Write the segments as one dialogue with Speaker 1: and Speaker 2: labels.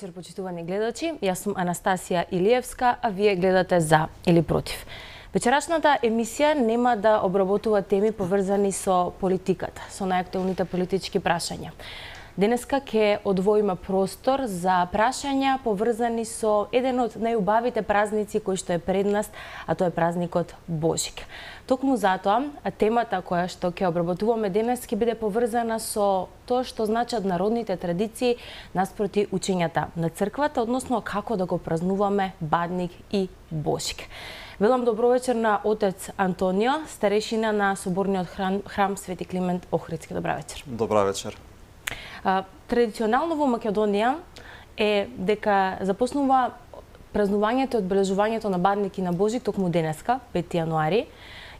Speaker 1: вечер, почитувани гледачи. Јас сум Анастасија Илиевска, а вие гледате За или Против. Вечерашната емисија нема да обработува теми поврзани со политиката, со најактуелните политички прашања. Денеска ќе одвоиме простор за прашања поврзани со еден од најубавите празници кој што е пред нас, а тоа е празникот Божик. Токму затоа, темата која што ќе обработуваме денес ќе биде поврзана со тоа што значат народните традиции наспроти учењата на црквата, односно како да го празнуваме Бадник и Божик. Велам добро вечер на отец Антонио, старешина на Соборниот храм Свети Климент Охридски. Добра вечер.
Speaker 2: Добра вечер.
Speaker 1: Традиционално во Македонија е дека започнува празнувањето и одбележувањето на Бадник и на Божик токму денеска, 5 јануари.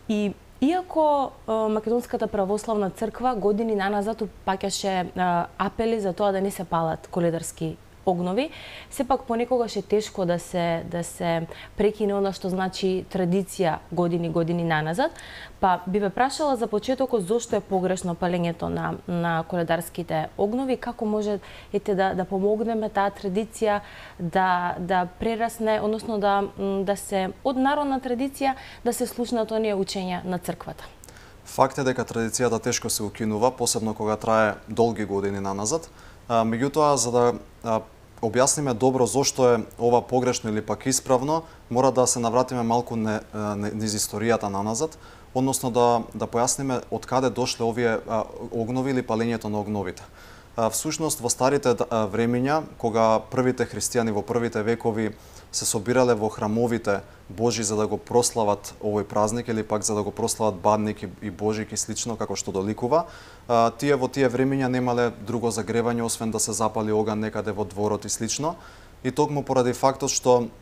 Speaker 1: И иако Македонската православна црква години наназад упаќаше апели за тоа да не се палат коледарски огнови, сепак понекогаш е тешко да се прекине она што значи традиција години наназад. Па би ве прашала за почетокот зошто е погрешно палењето на коледарските огнови, како може да помогнеме таа традиција да прерасне, односно да се од народна традиција да се слушнат оние учења на црквата.
Speaker 2: Факт е дека традицијата тешко се укинува, посебно кога трае долги години наназад. Меѓутоа, за да објасниме добро зошто е ова погрешно или пак исправно, мора да се навратиме малку низ историјата наназад, односно да појасниме од каде дошле овие огнови или палењето на огновите. Всушност, во старите времиња, кога првите христијани во првите векови се собирале во храмовите Божи за да го прослават овој празник или пак за да го прослават Бадник и Божик и слично како што доликува, тие во тие времиња немале друго загревање освен да се запали оган некаде во дворот и слично. И токму поради фактот што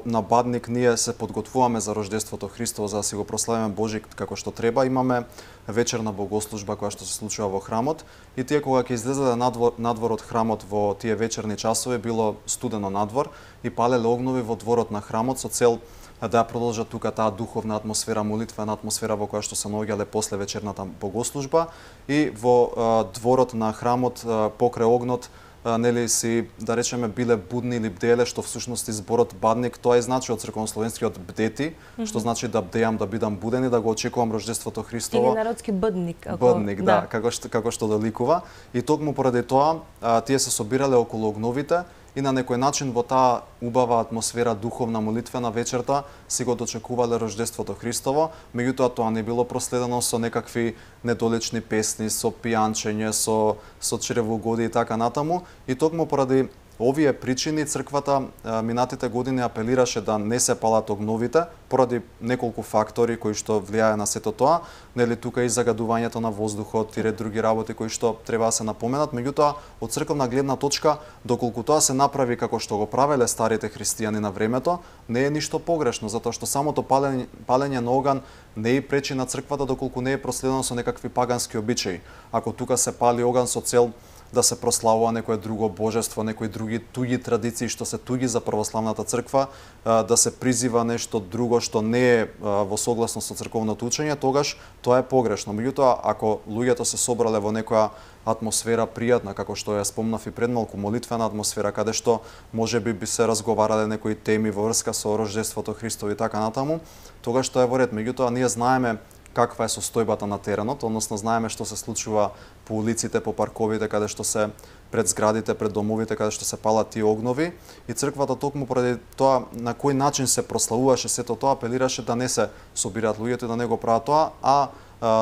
Speaker 2: на Бадник ние се подготвуваме за рождеството Христово за да си го прославиме Божик како што треба, имаме вечерна богослужба која што се случува во храмот и тие кога ќе излезеле надвор од храмот во тие вечерни часови било студено надвор и палеле огнови во дворот на храмот со цел да продолжат тука таа духовна атмосфера, молитвена атмосфера во која што се наоѓале после вечерната богослужба и во дворот на храмот покрај огнот нели си, да речеме, биле будни или бделе, што всушност зборот Бадник, тоа е значи од црковнословенскиот бдети, што значи да бдеам, да бидам буден и да го очекувам рождеството Христово.
Speaker 1: Или народски бъдник.
Speaker 2: Бъдник, да, како што доликува. И токму поради тоа, тие се собирале околу огновите и на некој начин во таа убава атмосфера духовна молитвена вечерта си го дочекувале рождеството Христово, меѓутоа тоа не било проследено со некакви недолечни песни, со пијанчење, со чревоугодие и така натаму. И токму поради овие причини црквата минатите години апелираше да не се палат огновите поради неколку фактори кои што влијае на сето тоа, нели тука и загадувањето на воздухот и ред други работи кои што треба да се напоменат, меѓутоа од црковна гледна точка доколку тоа се направи како што го правеле старите христијани на времето, не е ништо погрешно, затоа што самото палење на оган не и пречи на црквата доколку не е проследено со некакви пагански обичаи. Ако тука се пали оган со цел да се прославува некое друго божество, некои други туѓи традиции што се туѓи за православната црква, да се призива нешто друго што не е во согласност со црковното учење, тогаш тоа е погрешно. Меѓутоа, ако луѓето се собрале во некоја атмосфера пријатна, како што ја спомнав и пред малку, молитвена атмосфера, каде што можеби би се разговарале некои теми во врска со рождеството Христово и така натаму, тогаш тоа е во ред. Меѓутоа, ние знаеме каква е состојбата на теренот, односно знаеме што се случува по улиците, по парковите, каде што се пред зградите, пред домовите, каде што се палат тие огнови и црквата токму поради тоа на кој начин се прославуваше сето тоа апелираше да не се собираат луѓето и да не го прават тоа, а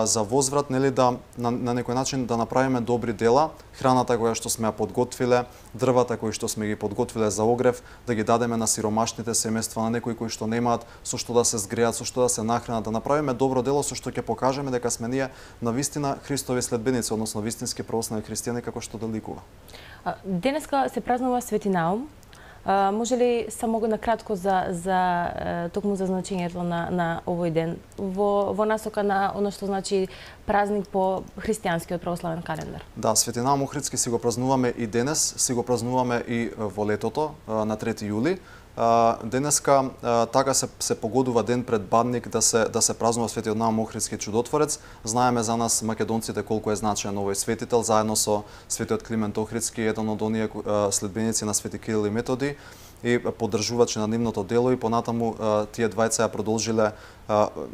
Speaker 2: за возврат нели на некој начин да направиме добри дела, храната која што сме ја подготвиле, дрвата кои што сме ги подготвиле за огрев, да ги дадеме на сиромашните семејства, на некои кои што немаат со што да се згреат, со што да се нахранат, да направиме добро дело со што ќе покажеме дека сме ние навистина Христови следбеници, односно вистински православни христијани како што доликува.
Speaker 1: Денеска се празнува Свети Наум. Може ли само накратко токму за значењето на овој ден во насока на оно што значи празник по христијанскиот православен календар?
Speaker 2: Да, Свети Наум Охридски си го празнуваме и денес, си го празнуваме и во летото на 3 јули. денеска така се погодува ден пред Бадник да се празнува светиот Наум Охридски чудотворец. Знаеме за нас македонците колку е значаен овој светител, заедно со светиот Климент Охридски, еден од оние следбеници на свети Кирил и Методи и поддржувачи на нивното дело, и понатаму тие двајца ја продолжиле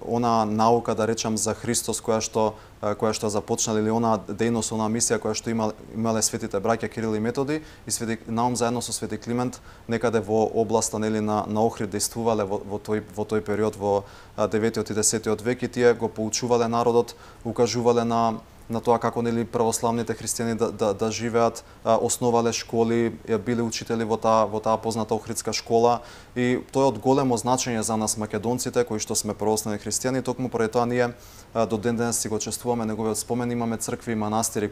Speaker 2: она наука, да речам, за Христос која што започнале, или она дејност, она мисија која што имале светите браќа Кирил и Методи и свети Наум заедно со свети Климент некаде во областа на Охрид действувале во тој период во 9-тиот и 10-тиот век, и тие го поучувале народот, укажувале на тоа како православните христијани да живеат, основале школи, биле учители во таа позната Охридска школа, и тоа е од големо значење за нас македонците кои што сме православни христијани. Токму поради тоа ние до ден денес си го чествуваме неговиот спомен. Имаме цркви и манастири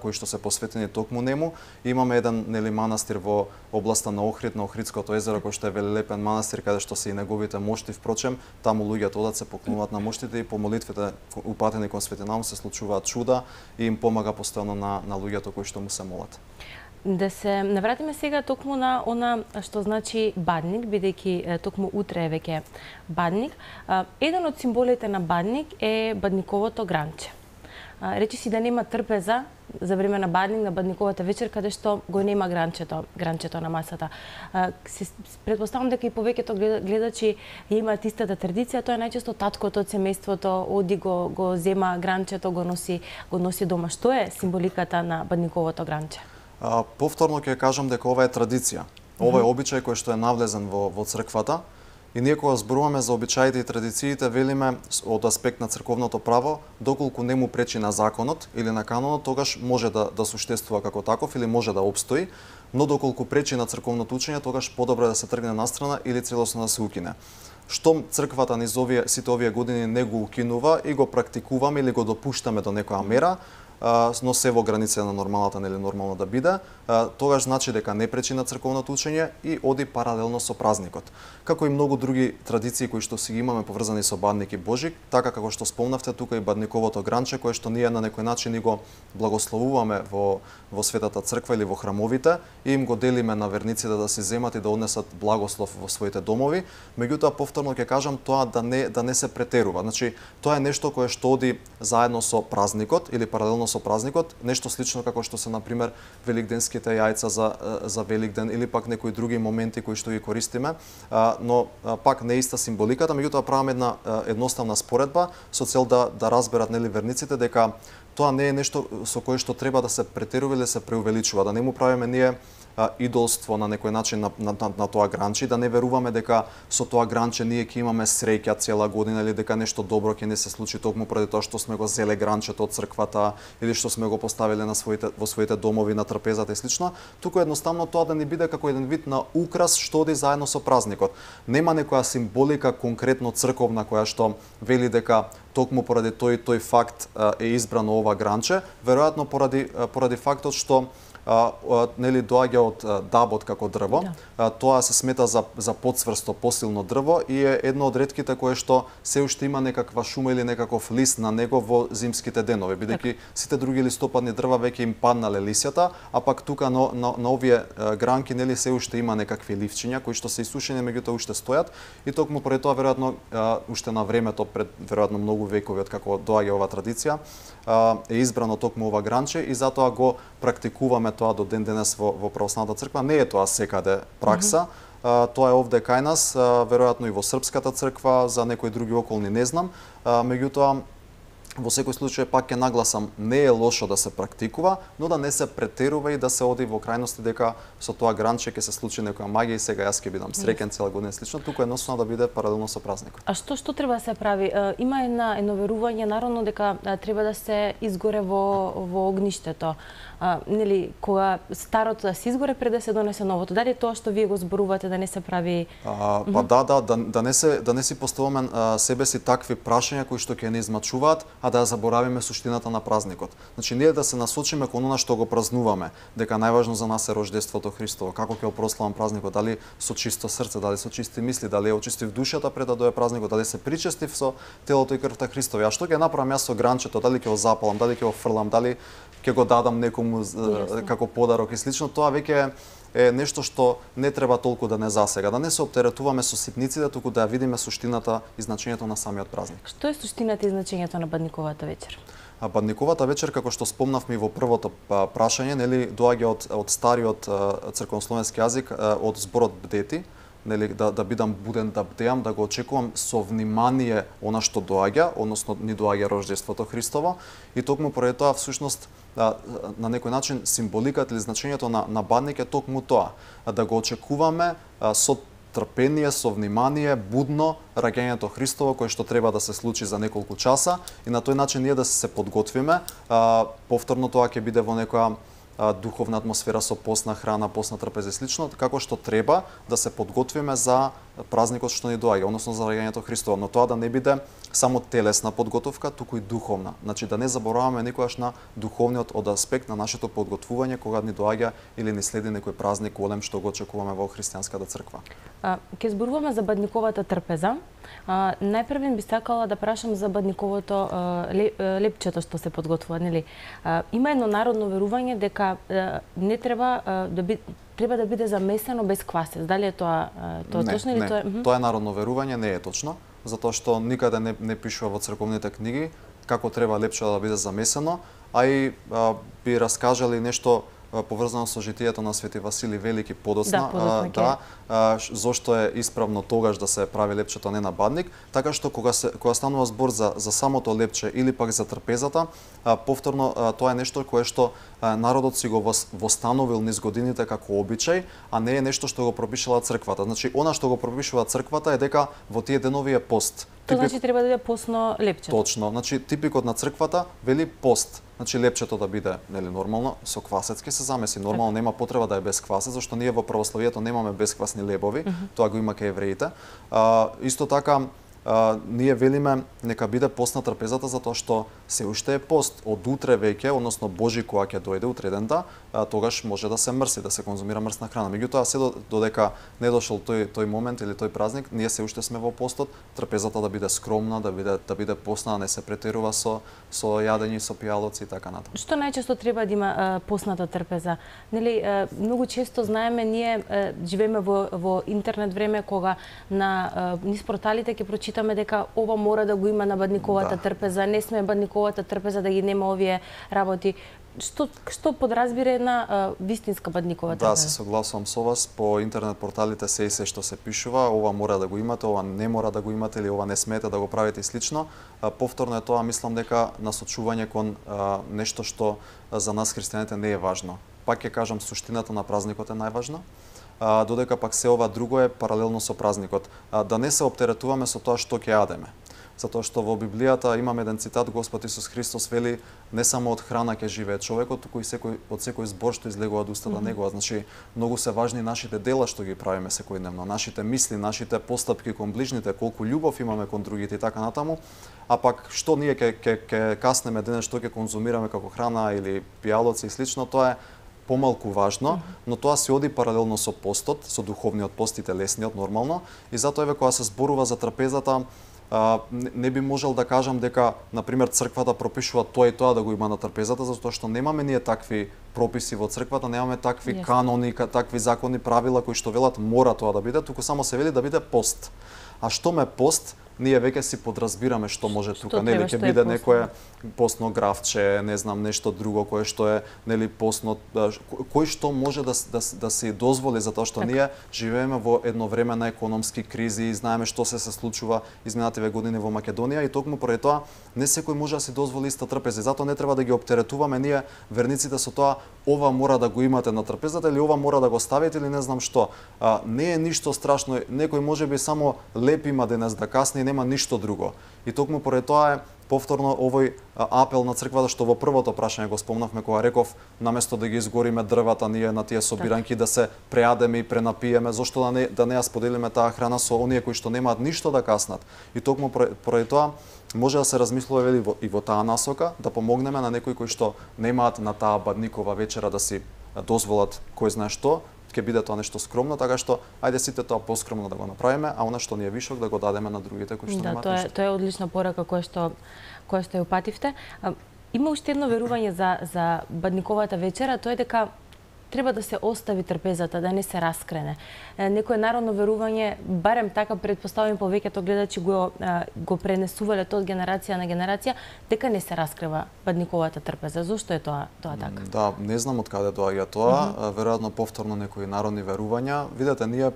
Speaker 2: кои што се посветени токму нему. Имаме еден манастир во областа на Охрид, на Охридското езеро, кој што е велелепен манастир, каде што се и неговите мошти. Впрочем, таму луѓето одат, се поклонуваат на моштите, и по молитвите упатени кон свети Наум се случуваат чуда и им помага постојано на луѓето кои што му се молат.
Speaker 1: Да се навратиме сега токму на она што значи Бадник, бидејќи токму утре е веќе Бадник. Еден од символите на Бадник е бадниковото гранче. Речи си да нема трпеза за време на Бадник, на Бадниковата вечер, каде што го нема гранчето на масата. Предпоставам дека и повеќето гледачи имаат истата традиција. Тоа е најчесто таткото од семејството оди го зема гранчето, го носи дома. Што е символиката на Бадниковото гранче?
Speaker 2: Повторно ќе кажам дека ова е традиција. Ова е обичај кој што е навлезен во црквата, и ние кога зборуваме за обичаите и традициите, велиме од аспект на црковното право, доколку не му пречи на законот или на канонот, тогаш може да суштествува како таков или може да обстои, но доколку пречи на црковното учење, тогаш подобро да се тргне настрана или целосно да се укине. Штом црквата низ сите овие години не го укинува и го практикуваме или го допуштаме до некоја мера, но се во граница на нормалната, нели нормално да биде, тогаш значи дека не пречи на црковното учење и оди паралелно со празникот. Како и многу други традиции кои што си ги имаме поврзани со Бадник и Божик, така како што спомнавте тука и Бадниковото гранче, кое што ние на некој начин и го благословуваме во Светата црква или во храмовите, и им го делиме на верниците да си земат и да однесат благослов во своите домови. Меѓутоа, повторно ќе кажам, тоа да не се претерува. Значи, тоа е нешто кое што оди заедно со празникот или паралелно со празникот, нешто слично како што се на пример великденските јајца за Великден или пак некои други моменти кои што ги користиме, но пак не иста символиката. Меѓутоа правиме една едноставна споредба со цел да разберат, нели, верниците дека тоа не е нешто со кое што треба да се претерува или се преувеличува, да не му правиме ние идолство на некој начин на тоа гранче, да не веруваме дека со тоа гранче ние ќе имаме среќа цела година или дека нешто добро ќе не се случи токму поради тоа што сме го зеле гранчето од црквата или што сме го поставиле во своите домови на трапезата и слично. Туку едноставно тоа да не биде како еден вид на украс што оди заедно со празникот. Нема некоја символика конкретно црковна која што вели дека токму поради тој факт е избрано ова гранче, веројатно поради фактот што нели доаѓа од дабот како дрво. Да. Тоа се смета за потцврсто, посилно дрво и е едно од ретките кое што се уште има некаква шума или некаков лист на него во зимските денови, бидејќи сите други листопадни дрва веќе им паднале лисјата, а пак тука на овие гранки нели се уште има некакви ливчиња кои што се исушени, меѓутоа уште стојат, и токму поради тоа веројатно уште на времето пред веројатно многу векови од како доаѓа ова традиција е избрано токму ова гранче и затоа го практикуваме тоа до ден денес во православната црква. Не е тоа секаде пракса. Тоа е овде кај нас, веројатно и во српската црква, за некои други околни не знам. Меѓутоа, во секој случај пак ќе нагласам, не е лошо да се практикува, но да не се претерува и да се оди во крајности дека со тоа гранче ќе се случи некоја магија и сега јас ќе бидам среќен цела година слично, туку едноставно да биде паралелно со празникот.
Speaker 1: А што треба да се прави? Има едно верување народно дека треба да се изгоре во огништето. Нели, кога старото да се изгоре пред да се донесе новото. Дали тоа што вие го зборувате да не се прави?
Speaker 2: Да не си поставаме себе си такви прашања кои што ќе не измачуваат, а да заборавиме суштината на празникот. Значи ние да се насочиме кон она што го празнуваме, дека најважно за нас е рождеството Христово, како ќе го прославам празникот, дали со чисто срце, дали со чисти мисли, дали ја очистив душата пред да дое празникот, дали се причестив со телото и крвта Христови. А што ќе направам јас со гранчето, дали ќе го запалам, дали ќе го фрлам, дали ќе го дадам некому како подарок и слично, тоа веќе е нешто што не треба толку да не засега, да не се оптеретуваме со ситниците, туку да ја видиме суштината и значењето на самиот празник.
Speaker 1: Што е суштината и значењето на Бадниковата вечер?
Speaker 2: Бадниковата вечер, како што спомнавме во првото прашање, нели, доаѓа од стариот црковнословенски јазик, од зборот бдети, нели, да бидам буден, да бдеам, да го очекувам со внимание она што доаѓа, односно ни доаѓа Рождеството Христово, и токму поради тоа всушност на некој начин символиката или значењето на бадник е токму тоа, да го очекуваме со трпение, со внимание, будно раѓањето Христово кој што треба да се случи за неколку часа, и на тој начин ние да се подготвиме. Повторно тоа ќе биде во некоја духовна атмосфера со постна храна, постна трпеза и слично, како што треба да се подготвиме за празникот што ни доаѓа, односно за раѓањето Христово, но тоа да не биде само телесна подготовка, туку и духовна. Значи да не забораваме никогаш на духовниот од аспект на нашето подготвување кога ни доаѓа или ни следи некој празник голем што го очекуваме во христијанската црква.
Speaker 1: Ке зборуваме за Бадниковата трпеза. Најпрвен би сакала да прашам за Бадниковото лепчето што се подготвува, нели? Има едно народно верување дека не треба треба да биде замесено без квасец. Дали е тоа точно или тоа?
Speaker 2: Тоа е народно верување, не е точно, затоа што никаде не пишува во црковните книги како треба лепчето да биде замесено, а и би раскажали нешто поврзано со житието на Свети Василий Велики подоцна, зошто е исправно тогаш да се прави лепчето, не на бадник, така што кога станува збор за самото лепче или пак за трпезата, повторно тоа е нешто кое што народот си го востановил низ годините како обичај, а не е нешто што го пропишала црквата. Значи, она што го пропишува црквата е дека во тие денови е пост.
Speaker 1: Тоа значи треба да биде постно лепче.
Speaker 2: Точно. Значи типикот на црквата вели пост. Значи лепчето да биде, нели, нормално со квасец ќе се замеси. Нормално нема потреба да е без квасец, зашто ние во православието немаме бесквасни лебови. Тоа го има кај евреите. Исто така ние велиме нека биде постна трпезата затоа што се уште е пост. Од утре веќе, односно Божи кога ќе дојде утредента, тогаш може да се мрси, да се конзумира мрсна храна. Меѓутоа се додека не дошол тој момент или тој празник, ние се уште сме во постот. Трпезата да биде скромна, да биде постна, не се претерува со јадење, со пијалоци и така натаму.
Speaker 1: Што најчесто треба да има постната трпеза? Нели многу често знаеме, ние живееме во интернет време кога на низ порталите ќе прочитаме дека ова мора да го има на Бадниковата трпеза, не сме Бадниковата трпеза да ги нема овие работи. Што подразбира една вистинска Бадникова трпеза?
Speaker 2: Да, се согласувам со вас. По интернет порталите се што се пишува, ова мора да го имате, ова не мора да го имате или ова не смеете да го правите и слично. Повторно е тоа, мислам дека насочување кон нешто што за нас христијаните не е важно. Пак ќе кажам, суштината на празникот е најважна, додека пак се ова друго е паралелно со празникот. Да не се оптеретуваме со тоа што ќе јадеме. Затоа што во Библијата имаме еден цитат, Господ Исус Христос вели не само од храна ќе живее човекот, туку и од секој збор што излегува од устата негова. Значи, многу се важни нашите дела што ги правиме секојдневно, нашите мисли, нашите постапки кон ближните, колку љубов имаме кон другите и така натаму. А пак што ние ќе каснеме денес, што ќе конзумираме како храна или пијалоци и слично, тоа е помалку важно, но тоа се оди паралелно со постот, со духовниот пост и телесниот нормално, и затоа еве кога се зборува за трпезата, не би можел да кажам дека, например, црквата пропишува тоа и тоа да го има на трпезата, затоа што немаме ние такви прописи во црквата, немаме такви канони, такви закони, правила кои што велат мора тоа да биде, туку само се вели да биде пост. А што ме пост, ние веќе си подразбираме што може тука, нели ќе биде некое постно гравче, не знам, нешто друго кое што е, нели, постно, кој што може да се дозволи, затоа што ние живееме во едно време на економски кризи и знаеме што се случува изминативе години во Македонија, и токму поради тоа не секој може да си дозволи иста трпеза. Затоа не треба да ги оптеретуваме ние верниците со тоа ова мора да го имате на трпезата или ова мора да го ставите или не знам што. Не е ништо страшно, некој можеби само леп има денес да касни, нема ништо друго. И токму поради тоа е повторно овој апел на црквата што во првото прашање го спомнавме кога реков наместо да ги изгориме дрвата ние на тие собиранки да се прејадеме и пренапиеме, зошто да не ја споделиме таа храна со оние кои што немаат ништо да каснат. И токму поради тоа може да се размислува и во таа насока, да помогнеме на некои кои што немаат на таа Бадникова вечера да си дозволат кој знае што, ќе биде тоа нешто скромно, така што ајде сите тоа поскромно да го направиме, а она што ни е вишок да го дадеме на другите кои што немаат ништо.
Speaker 1: Тоа е одлична порака која што ја упативте. Има уште едно верување за Бадниковата вечера, тоа е дека треба да се остави трпезата, да не се раскрене. Некое народно верување, барем така предпоставувам повеќето гледачи го пренесувале тоа од генерација на генерација, дека не се раскрива бадниковата трпеза. Зошто е тоа така?
Speaker 2: Да, не знам од каде доаѓа тоа, веројатно повторно некои народни верувања. Видете, ние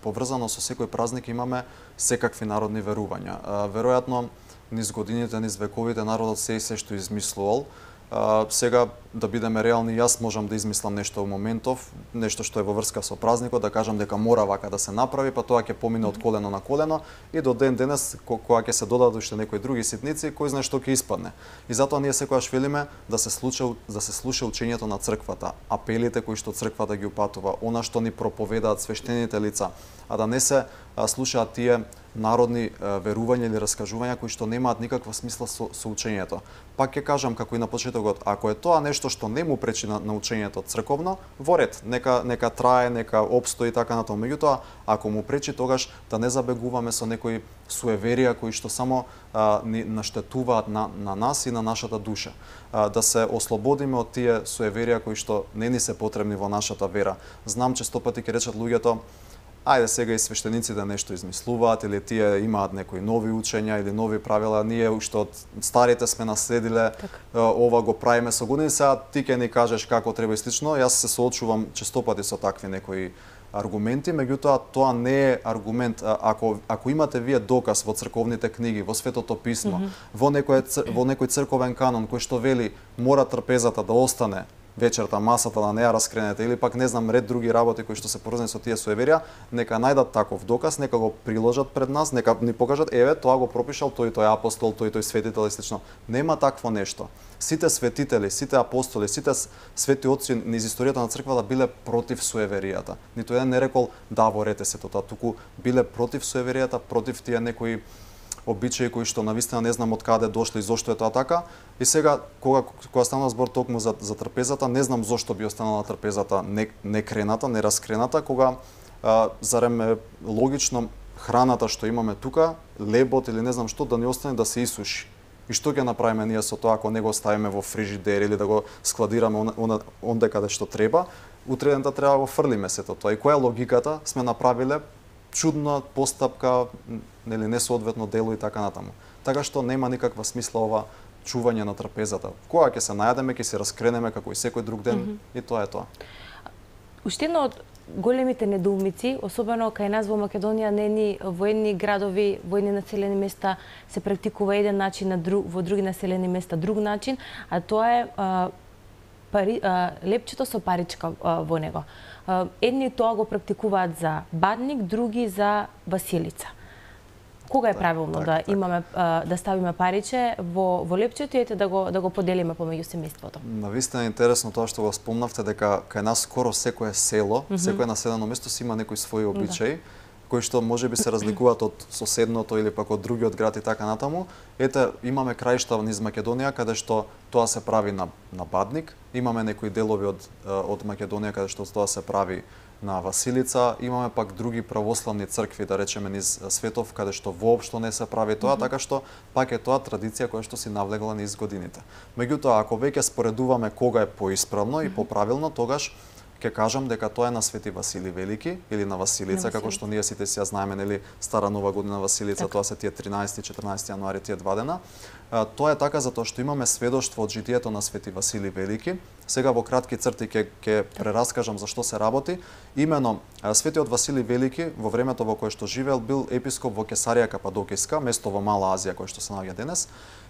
Speaker 2: поврзано со секој празник имаме секакви народни верувања. Веројатно низ годините, низ вековите народот се и се што измислувал. Сега, да бидеме реални, јас можам да измислам нешто во моментов, нешто што е во врска со празникот, да кажам дека мора вака да се направи, па тоа ќе помине од колено на колено и до ден денес, кога ќе се додадат уште некои други ситници, кој знае што ќе испадне. И затоа ние секогаш велиме да се слуша учењето на црквата, апелите кои што црквата ги упатува, она што ни проповедаат свештените лица, а да не се слушаат тие народни верувања или раскажувања кои што немаат никаква смисла со учењето. Пак ќе кажам како и на почетокот, ако е тоа нешто што не му пречи на учењето црковно, во ред, нека трае, нека опстои така натаму. Меѓутоа, ако му пречи, тогаш да не забегуваме со некои суеверија кои што само ни наштетуваат на нас и на нашата душа. Да се ослободиме од тие суеверија кои што не ни се потребни во нашата вера. Знам често пати ќе речат луѓето, ајде сега и свештениците нешто измислуваат или тие имаат некои нови учења или нови правила, ние уште од старите сме наследиле, ова го правиме со години, сега ти ќе ни кажеш како треба и слично. Јас се соочувам често пати со такви некои аргументи, меѓутоа тоа не е аргумент. Ако имате вие доказ во црковните книги, во Светото писмо, во некој црковен канон кој што вели мора трпезата да остане вечерта, масата да не ја раскренете, или пак не знам ред други работи кои што се поврзани со тие суеверија, нека најдат таков доказ, нека го приложат пред нас, нека ни покажат, еве, тоа го пропишал тој апостол, тој светител и слично. Нема такво нешто. Сите светители, сите апостоли, сите свети отци низ историјата на црквата биле против суеверијата. Ниту еден не рекол да ворете се тоа, туку биле против суеверијата, против тие некои обичаи кои што навистина не знам од каде дошли и зошто е тоа така. И сега кога станува збор токму за трпезата, не знам зошто би останала трпезата не крената, не раскрената, кога зарем е логично храната што имаме тука, лебот или не знам што, да не остане да се исуши. И што ќе направиме ние со тоа ако не го ставиме во фрижидер или да го складираме онде каде што треба, утре дента треба да го фрлиме сето тоа. И која е логиката? Сме направиле чудна постапка, нели несоодветно дело и така натаму. Така што нема никаква смисла ова чување на трпезата. Кога ќе се најдеме, ќе се раскренеме како и секој друг ден и тоа е тоа.
Speaker 1: Уште едно од големите недоумици, особено кај нас во Македонија, во едни градови, во едни населени места се практикува еден начин, во други населени места друг начин, а тоа е лепчето со паричка во него. Едни тоа го практикуваат за бадник, други за Василица. Кога е правилно да имаме да ставиме париче во лепчето и да го поделиме помеѓу семејството? Навистина
Speaker 2: е интересно тоа што го спомнавте, дека кај нас скоро секое село, секое населено место си има некои свои обичаи, кои што можеби се разликуваат од соседното или пак од другиот град и така натаму. Ете, имаме краишта низ Македонија каде што тоа се прави на бадник, имаме некои делови од Македонија каде што тоа се прави на Василица, имаме пак други православни цркви, да речеме низ светов, каде што воопшто не се прави тоа, така што пак е тоа традиција која што си навлегла низ годините. Меѓутоа, ако веќе споредуваме кога е поисправно и поправилно, тогаш ќе кажам дека тоа е на Свети Васили Велики или на Василица, како што ние сите си ја знаеме, нели, Стара Нова година Василица, тоа се тие 13-14 јануари, тие два дена. Тоа е така затоа што имаме сведоштво од житието на Свети Васили Велики. Сега во кратки црти ќе прераскажам за што се работи. Имено Светиот Васили Велики во времето во кое што живеел бил епископ во Кесарија Кападокиска, место во Мала Азија кое што се наоѓа денес.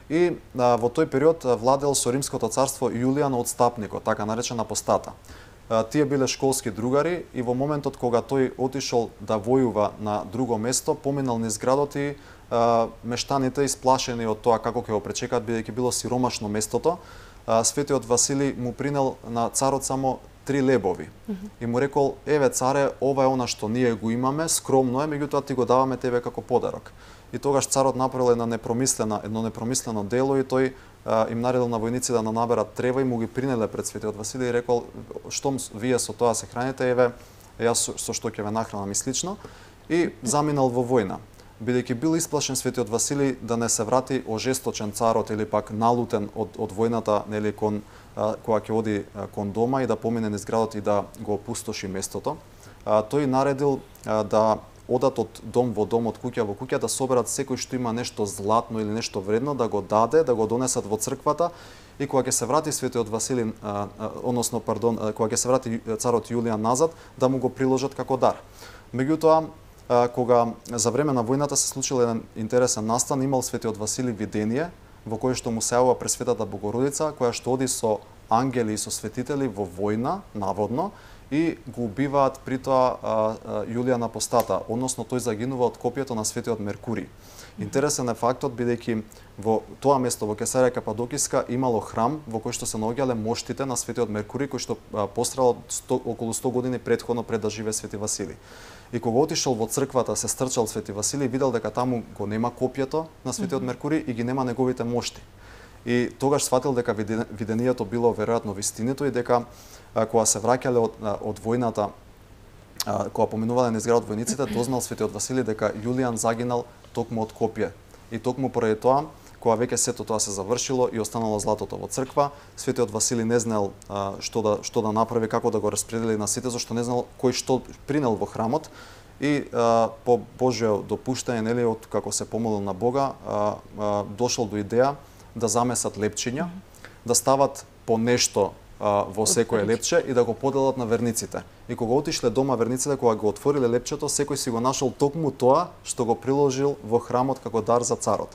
Speaker 2: И во тој период владел со Римското царство Јулијан Отстапникот, така наречен апостата. Тие биле школски другари и во моментот кога тој отишол да војува на друго место, поминал низ градот и мештаните исплашени од тоа како ќе го пречекат, бидејќи било сиромашно местото, Светиот Васили му принел на царот само 3 лебови. И му рекол, еве царе, ова е она што ние го имаме, скромно е, меѓутоа ти го даваме тебе како подарок. И тогаш царот направил едно непромислено дело и тој им наредил на војници да наберат трева и му ги принеле пред Светиот Василий и рекол, штом вие со тоа се храните, еве, јас со што ќе ве нахранам и слично. И заминал во војна. бидејќи бил исплашен светиот Василий да не се врати ожесточен царот или пак налутен од војната, нели, кога ќе оди кон дома и да помине низ градот и да го опустоши местото. Тој наредил да одат од дом во дом, од куќа во куќа, да соберат секој што има нешто златно или нешто вредно, да го даде, да го донесат во црквата, и кога ќе се врати светиот Василий, кога ќе се врати царот Јулијан назад, да му го приложат како дар. Меѓутоа, кога за време на војната се случил еден интересен настан, имал светиот Василий видение во кое што му се јавува Пресветата Богородица, која што оди со ангели и со светители во војна, наводно, и го убиваат при тоа Јулијан Апостата, односно тој загинува од копието на светиот Меркурий. Интересен е фактот, бидејќи во тоа место во Кесарија Кападокиска имало храм во кој што се наоѓале моштите на светиот Меркурий, кој што пострадал околу 100 години претходно пред да живее свети Василий. И кога отишол во црквата, се стрчал свети Василий, видел дека таму го нема копието на светиот Меркурий и ги нема неговите мошти. И тогаш сватил дека видението било веројатно вистинито и дека кога се враќале од војната, кога поминувале низ градот војниците, дознал светиот Василий дека Јулијан загинал токму од копие. И токму поради тоа, кога веќе сето тоа се завршило и останало златото во црква, светиот Василий не знаел што да направи, како да го распредели на сите, зашто не знаел кој што принел во храмот. И по Божјо допуштање, нели, од како се помолил на Бога, дошол до идеја да замесат лепчиња, да стават по нешто во секое лепче и да го поделат на верниците. И кога отишле дома верниците, кога го отвориле лепчето, секој си го нашол токму тоа што го приложил во храмот како дар за царот.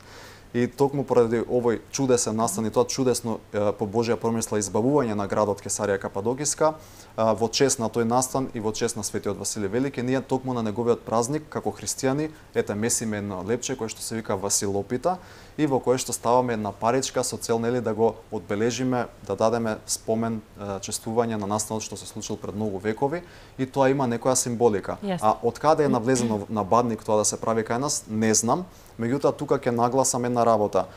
Speaker 2: И токму поради овој чудесен настан и тоа чудесно по Божја промисла избавување на градот Кесарија Кападокиска, во чест на тој настан и во чест на светиот Василий Велики, ние токму на неговиот празник како христијани ете месиме едно лепче кое што се вика Василопита и во кое што ставаме една паричка со цел, нели, да го одбележиме, да дадеме спомен, чествување на настанот што се случил пред многу векови, и тоа има некоја символика. А од каде е навлезено на бадник тоа да се прави кај нас, не знам. Меѓутоа тука ќе нагласам една работа.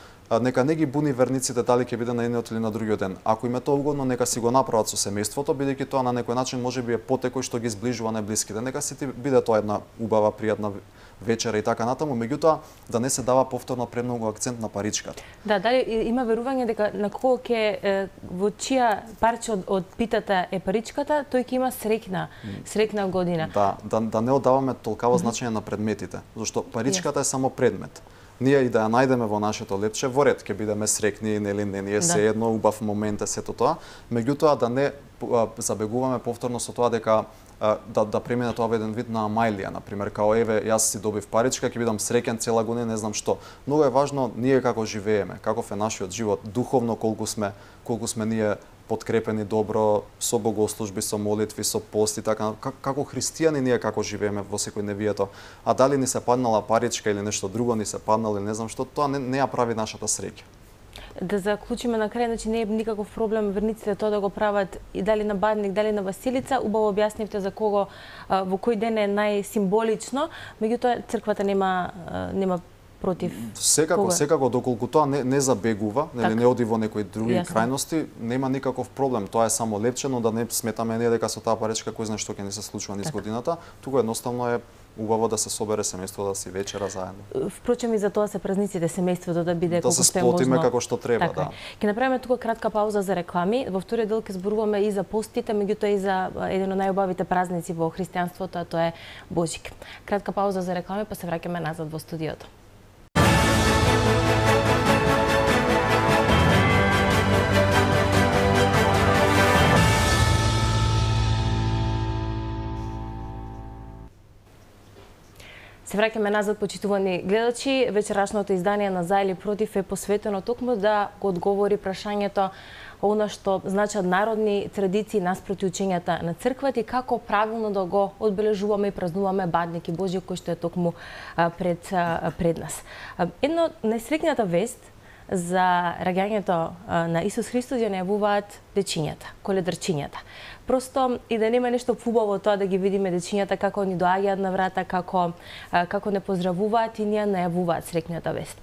Speaker 2: Нека не ги буни верниците дали ќе биде на едниот или на другиот ден. Ако им е тоа угодно, нека си го направат со семејството, бидејќи тоа на некој начин можеби е потекој што ги зближува најблиските. Нека си ти биде тоа една убава, пријатна вечера и така натаму, меѓутоа да не се дава повторно премногу акцент на паричката.
Speaker 1: Да, дали има верување дека на кого ќе во чија парче од питата е паричката, тој ќе има среќна година.
Speaker 2: Да не одаваме толкаво значење на предметите, зашто паричката е само предмет. Ние и да ја најдеме во нашето лепче, во ред ќе бидеме среќни, нели, не ни е сеедно, убав момент е сето тоа, меѓутоа да не забегуваме повторно со тоа дека да премине тоа во еден вид на амајлија, например, као еве јас си добив паричка, ќе бидам среќен цела година, не знам што. Многу е важно ние како живееме, каков е нашиот живот, духовно колку сме ние подкрепени добро со богослужби, со молитви, со пост и така, како христијани ние како живееме во секојдневието. А дали ни се паднала паричка или нешто друго ни се паднало или не знам што, тоа не ја прави нашата среќа.
Speaker 1: Да заклучиме на крај, значи не е никаков проблем верниците тоа да го прават и дали на бадник, дали на Василица. Убаво објаснивте за кого во кој ден е најсимволично, меѓутоа црквата нема против.
Speaker 2: Секако доколку тоа не забегува, нели, не оди во некои други крајности, нема никаков проблем. Тоа е само лепчено, да не сметаме ние дека со таа паричка кој знае што ќе ни се случува низ годината. Туку едноставно е убаво да се собере семејството, да си вечера заедно.
Speaker 1: Впрочем и за тоа се празниците, семејството да биде колку
Speaker 2: што е можно. Да се сплотиме како што треба, да.
Speaker 1: Ќе направиме тука кратка пауза за реклами. Во вториот дел ќе зборуваме и за постите, меѓутоа и за еден од најубавите празници во христијанството, а тоа е Божик. Кратка пауза за реклами, па се враќаме назад во студиото. Се враќаме назад, почитувани гледачи. Вечерашното издание на За или против е посветено токму да го одговори прашањето она што значат народни традиции наспроти учењата на црквата и како правилно да го одбележуваме и празнуваме бадник и Божик кој што е токму пред нас. Едно најсреќната вест за раѓањето на Исус Христос ја најавуваат дечињата, коледарчињата. Просто и да нема нешто фубаво тоа да ги видиме дечињата како ни доаѓаат на врата, како не поздравуваат и ни ја најавуваат среќната вест.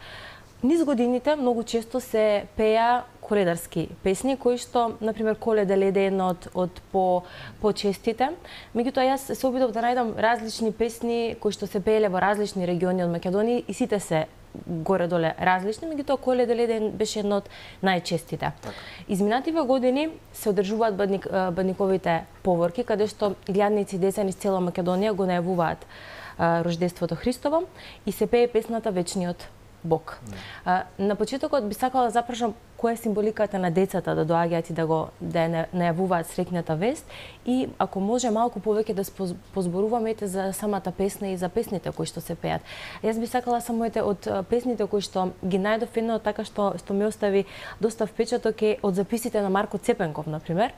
Speaker 1: низ годините многу често се пеа коледарски песни, кои што, например, Коледа леде една од почестите. Меѓутоа, јас се обидов да најдам различни песни кои што се пееле во различни региони од Македонија и сите се горе-доле различни, меѓутоа Коледа леде беше една од најчестите. Изминативе години се одржуваат бадниковите поворки, каде што илјадници деца низ цела Македонија го најавуваат рождеството Христово и се пее песната Вечниот Бог. На почетокот би сакала да запрашам која е символиката на децата да доаѓаат и да најавуваат среќната вест и ако може малку повеќе да позборуваме за самата песна и за песните кои што се пеат. Јас би сакала само од песните кои што ги најдов едно така што ме остави доста впечаток е од записите на Марко Цепенков, например.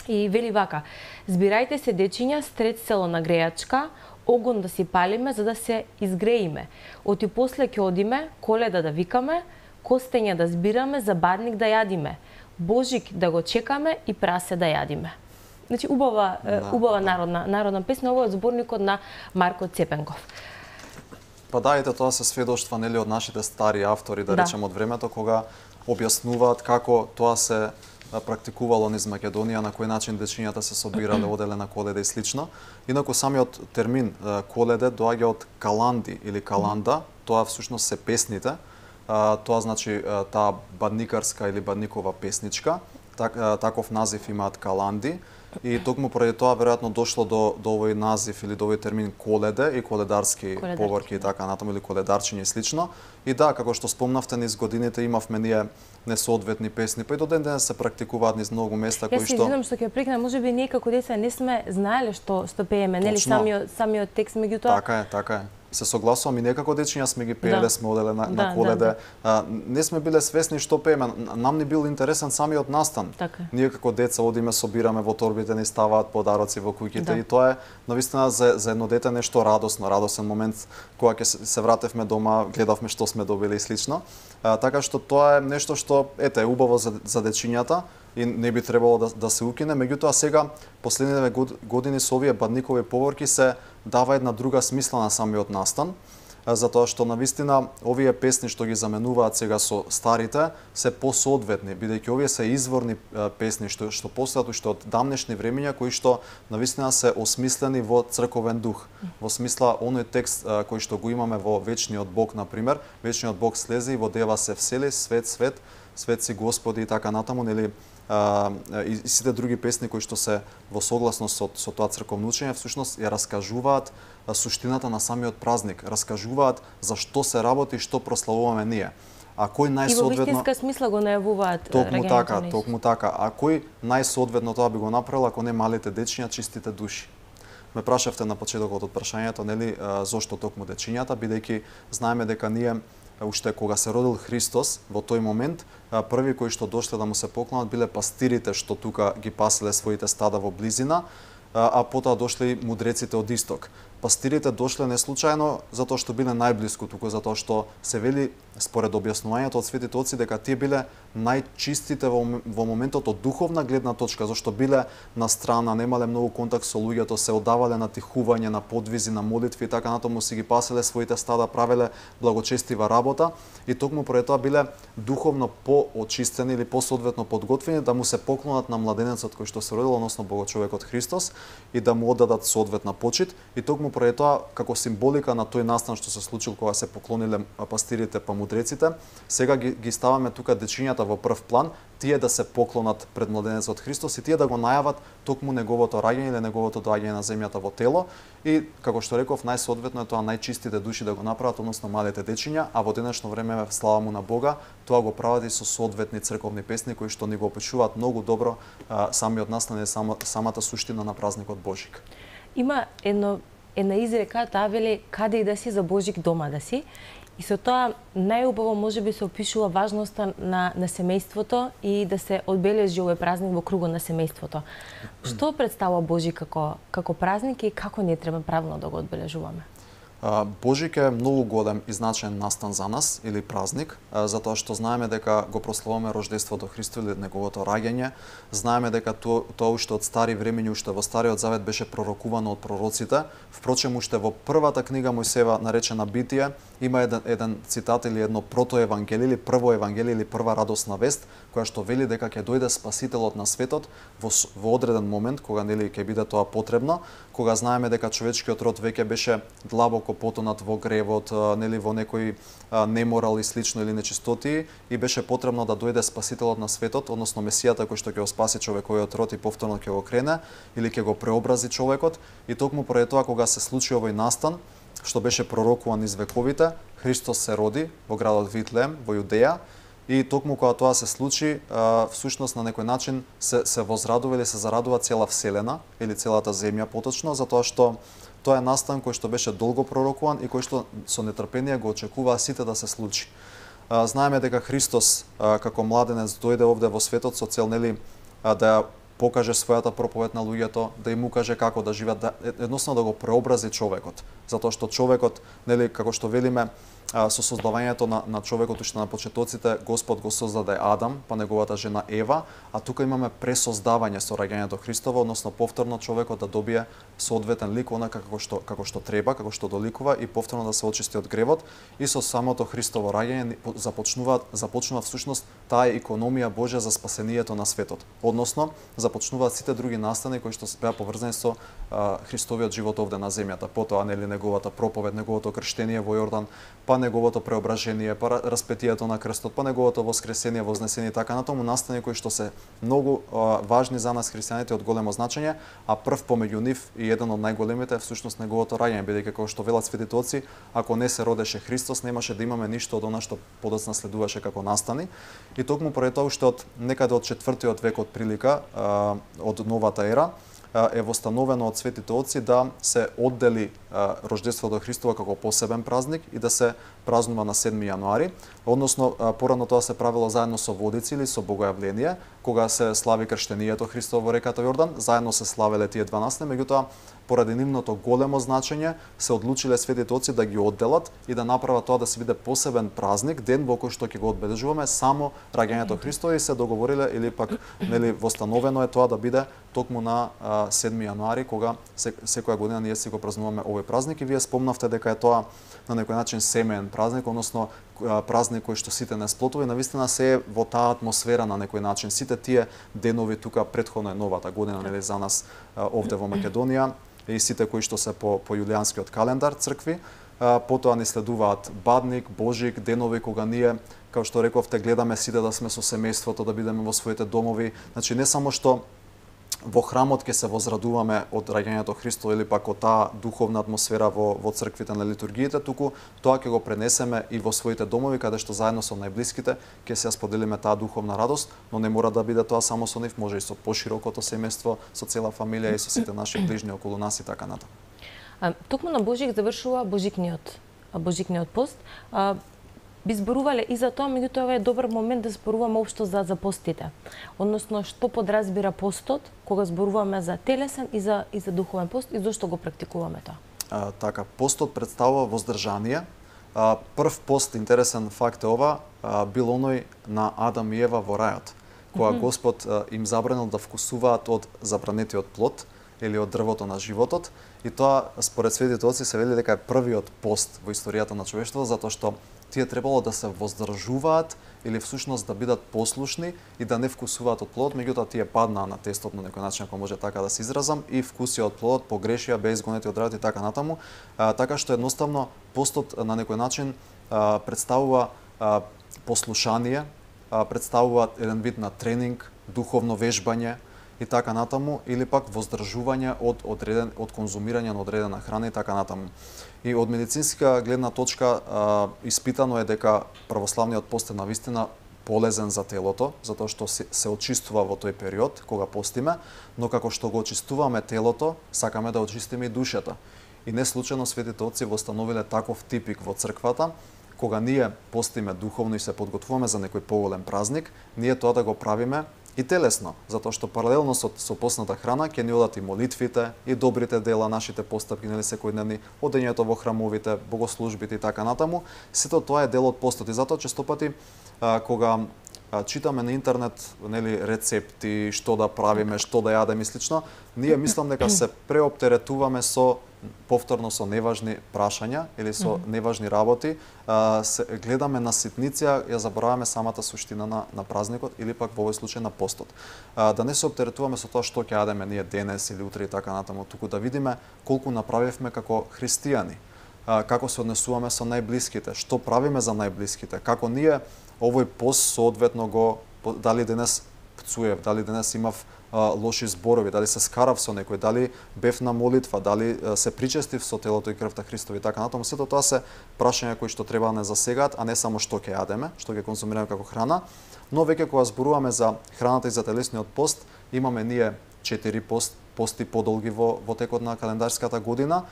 Speaker 1: И вели вака: збирајте се дечиња, стред село на грејачка, огон да си палиме за да се изгреиме. Оти после ќе одиме, Коледа да викаме, костења да збираме, за бадник да јадиме, Божик да го чекаме и прасе да јадиме. Значи убава народна песна, ова е од зборникот на Марко Цепенков.
Speaker 2: Па да, ете тоа се сведоштва нели од нашите стари автори, да речем од времето кога објаснуваат како тоа се практикувало низ Македонија, на кој начин дечињата се собирале, оделе на Коледа и слично. Инаку самиот термин Коледе доаѓа од каланди или каланда, тоа всушност се песните. Тоа значи таа бадникарска или бадникова песничка. Таков назив имаат каланди. И токму поради тоа веројатно дошло до овој назив или до овој термин Коледе и коледарски поворки и така натаму, или коледарчиња и слично. И да, како што спомнавте, низ годините имавме ние несоодветни песни, па и до ден денес се практикуваат низ многу места кои што...
Speaker 1: Јас се извинам што ќе прекнам, можеби ние како деца не сме знаеле што пееме, нели самиот текст, меѓутоа...
Speaker 2: Така е. Се согласувам и некако дечиња сме ги пееле, сме оделе на Коледе. Не сме биле свесни што пееме, нам ни бил интересен самиот настан. Ние како деца одиме, собираме во торбите, ни ставаат подароци во куќите и тоа е навистина за едно дете нешто радосен момент кога ќе се вратевме дома, гледавме што сме добили и слично. Така што тоа е нешто што е убаво за дечињата и не би требало да се укине, меѓутоа сега последниве години со овие бадникови поворки се дава една друга смисла на самиот настан, затоа што навистина овие песни што ги заменуваат сега со старите се посоодветни, бидејќи овие се изворни песни што постојат уште од дамнешни времиња, кои што навистина се осмислени во црковен дух, во смисла оној текст кој што го имаме во Вечниот Бог, например, Вечниот Бог слезе и во дева се всели, свет, свет, свет си Господи и така натаму, нели, и сите други песни кои што се во согласност со тоа црковно учење всушност ја раскажуваат суштината на самиот празник, раскажуваат за што се работи и што прославуваме ние. А кој најсоодветно...
Speaker 1: И во вистинска смисла го најавуваат
Speaker 2: раѓањето. Токму така. А кој најсоодветно тоа би го направил ако не малите дечиња, чистите души? Ме прашавте на почетокот од прашањето, нели, зошто токму дечињата, бидејќи знаеме дека ние уште кога се родил Христос, во тој момент, први кои што дошле да му се поклонат биле пастирите што тука ги паселе своите стада во близина, а потоа дошли мудреците од исток. Пастирите дошле не случајно затоа што биле најблиску, туку затоа што се вели според објаснувањето од светите отци дека тие биле најчистите во моментот од духовна гледна точка, зашто биле на страна, немале многу контакт со луѓето, се одавале на тихување, на подвизи, на молитви и така натаму си ги паселе своите стада, правеле благочестива работа и токму поради тоа биле духовно поочистени или посоодветно подготвени да му се поклонат на младенецот кој што се родил, односно Богочовекот Христос и да му оддадат соодветна почит и токму поради тоа како символика на тој настан што се случил кога се поклониле пастирите па мудреците, сега ги ставаме тука дечињата во прв план, тие да се поклонат пред младенецот Христос и тие да го најават токму неговото раѓање или неговото доаѓање на земјата во тело и како што реков најсоодветно е тоа најчистите души да го направат, односно малите дечиња, а во денешно време слава му на Бога, тоа го прават и со соодветни црковни песни кои што ни го опишуваат многу добро самиот настан и самата суштина на празникот Божик.
Speaker 1: Има една изрека, таа вели каде и да си за Божик дома да си. И со тоа најубаво можеби се опишува важноста на семејството и да се одбележи овој празник во кругот на семејството. Што представува Божик како празник и како ние треба правилно да го одбележуваме?
Speaker 2: Божик е многу голем и значаен настан за нас или празник, затоа што знаеме дека го прославуваме рождеството Христо или неговото раѓање. Знаеме дека тоа уште од стари времиња, уште во Стариот Завет беше пророкувано од пророците. Впрочем, уште во првата книга Мојсеева наречена Битие има еден цитат или едно протоевангелие или прво евангелие или прва радосна вест која што вели дека ќе дојде Спасителот на светот во одреден момент кога нели ќе биде тоа потребно, кога знаеме дека човечкиот род веќе беше длабоко потонат во гревот, нели во некој неморал и слично или нечистоти, и беше потребно да дојде Спасителот на светот, односно Месијата кој што ќе го спаси човековиот род и повторно ќе го крене или ќе го преобрази човекот. И токму поради тоа кога се случи овој настан, што беше пророкуван низ вековите, Христос се роди во градот Витлеем во Јудеја. И токму кога тоа се случи, всушност на некој начин се возрадува или се зарадува цела вселена или целата земја поточно, затоа што тоа е настан кој што беше долго пророкуван и кој што со нетрпение го очекуваа сите да се случи. Знаеме дека Христос како младенец дојде овде во светот со цел нели да покаже својата проповед на луѓето, да им укаже како да живеат, едноставно да го преобрази човекот, затоа што човекот, нели како што велиме, со создавањето на човекот уште на почетоците, Господ го создаде Адам, па неговата жена Ева, а тука имаме пресоздавање со раѓањето Христово, односно повторно човекот да добие соодветен лик онака како што треба, како што доликува и повторно да се очисти од гревот. И со самото Христово раѓање започнува всушност таа економија Божја за спасението на светот. Односно започнуваат сите други настани кои што беа поврзани со Христовиот живот овде на земјата. Потоа нели неговата проповед, неговото крштение во Јордан, па неговото преображение, па распетието на крстот, па неговото воскресение, вознесение и така натаму, настани кои што се многу важни за нас христијаните од големо значење, а прв помеѓу нив и еден од најголемите е всушност неговото раѓање, бидејќи како што велат светите оци, ако не се родеше Христос, немаше да имаме ништо од она што подоцна следуваше како настани. И токму поради тоа уште од некаде од 4-тиот век од прилика, од новата ера, е востановено од светите оци да се оддели рождеството Христово како посебен празник и да се празнува на 7 јануари, односно порано тоа се правило заедно со водици или со богојавление, кога се слави крштението Христово во реката Јордан, заедно се славеле тие 12, меѓутоа поради нивното големо значење се одлучиле светите оци да ги одделат и да направат тоа да се биде посебен празник, ден во кој што ќе го одбележуваме само раѓањето Христово, и се договориле или пак нели востановено е тоа да биде токму на 7 јануари, кога секоја година ние си го празнуваме овој празник. И вие спомнавте дека е тоа на некој начин семеен празник, односно празник кој што сите не сплотува, и навистина се е во таа атмосфера на некој начин. Сите тие денови тука претходно е новата година нели за нас овде во Македонија, и сите кои што се по јулијанскиот календар цркви, потоа ни следуваат Бадник, Божик, денови кога ние, како што рековте, гледаме сите да сме со семејството, да бидеме во своите домови. Значи не само што во храмот ќе се возрадуваме од раѓањето Христово или пак од таа духовна атмосфера во црквите на литургиите, туку тоа ќе го пренесеме и во своите домови, каде што заедно со најблиските ќе се споделиме таа духовна радост, но не мора да биде тоа само со нив, може и со поширокото семејство, со цела фамилија и со сите наши ближни околу нас и така натаму.
Speaker 1: Токму на Божик завршува Божикниот пост. Би зборувале и за тоа, меѓутоа ова е добар момент да зборуваме општо за постите. Односно, што подразбира постот, кога зборуваме за телесен и за духовен пост, и зошто го практикуваме тоа?
Speaker 2: Така, постот представува воздржание. Прв пост, интересен факт е ова, бил оној на Адам и Ева во рајот, кога Господ им забранил да вкусуваат од забранетиот плод или од дрвото на животот, и тоа според светите оци се вели дека е првиот пост во историјата на човештвото, затоа што тие требало да се воздржуваат или всушност да бидат послушни и да не вкусуваат од плодот, меѓутоа тие паднаа на тестот на некој начин, ако може така да се изразам, и вкусија од плодот, погрешија, беа изгонети од рајот и така натаму. Така што едноставно постот на некој начин представува послушание, представува еден вид на тренинг, духовно вежбање и така натаму, или пак воздржување од конзумирање на одредена храна и така натаму. И од медицинска гледна точка испитано е дека православниот пост е навистина полезен за телото, затоа што се очистува во тој период кога постиме, но како што го очистуваме телото, сакаме да очистиме и душата. И не случајно светите оци востановиле таков типик во црквата, кога ние постиме духовно и се подготвуваме за некој поголем празник, ние тоа да го правиме и телесно, затоа што паралелно со постната храна ќе ни одат и молитвите, и добрите дела, нашите постапки, нели секојдневни, одењето во храмовите, богослужбите и така натаму. Сето тоа е дел од постот и затоа честопати кога читаме на интернет, нели, рецепти, што да правиме, што да јадеме и слично, ние мислам дека се преоптеретуваме повторно со неважни прашања или со неважни работи, гледаме на ситниција, ја забораваме самата суштина на празникот или пак во овој случај на постот. Да не се оптеретуваме со тоа што ќе јадеме ние денес или утре и така натаму, туку да видиме колку направивме како христијани, како се однесуваме со најблиските, што правиме за најблиските, како ние овој пост соодветно го, дали денес пцуев, дали денес имав лоши зборови, дали се скарав со некој, дали бев на молитва, дали се причестив со телото и крвта Христови и така натаму. Сето тоа се прашања кои што треба да не засегаат, а не само што ќе јадеме, што ќе консумираме како храна. Но веќе кога зборуваме за храната и за телесниот пост, имаме ние 4 пости подолги во текот на календарската година.